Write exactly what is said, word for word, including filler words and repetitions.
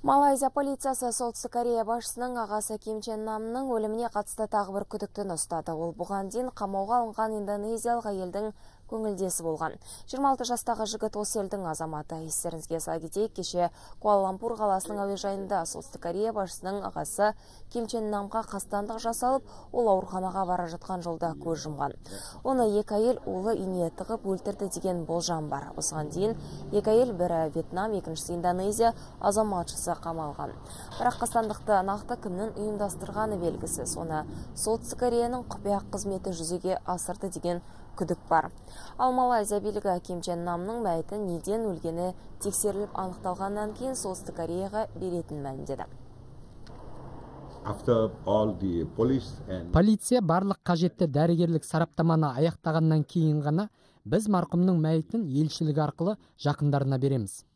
Малайзия полициясы Солтүстік Корея басшысының ағасы Ким Чен Намның өліміне қатысты тағы бір күдіктіні ұстады. Ол бұған дейін қамауға алынған индонезиялық әйелдің көңілдесі болған. жиырма алты жастағы жігіт осы елдің азаматы. Естеріңізге сала кетейік, кеше Куала-Лумпур қаласының әуежайында Солтүстік Корея басшысының ағасы Ким Чен Намға қастандық жасалып, ол ауруханаға бара жатқан жолда көз жұмған. Оны екі әйел улы ине тығып өлтірді деген болжам бар. Осыған дейін екі әйел, бірі Вьетнам, екіншісі Индонезия азаматшысы қамалған. Бірақ қастандықты нақты кімнің ұйымдастырғаны белгісіз. Оны Солтүстік Кореяның құпия қызметі жүзеге асырды деген күдік бар. Ал Малайзия билігі Ким Чен Намның мәйіті неден өлгені тексеріліп анықталғаннан кейін Солтүстік Кореяға беретін мәлімдеді. Полиция барлық қажетті дәрігерлік сараптаманы аяқтағаннан кейін ғана біз марқұмның мәйітін елшілік арқылы жақындарына береміз.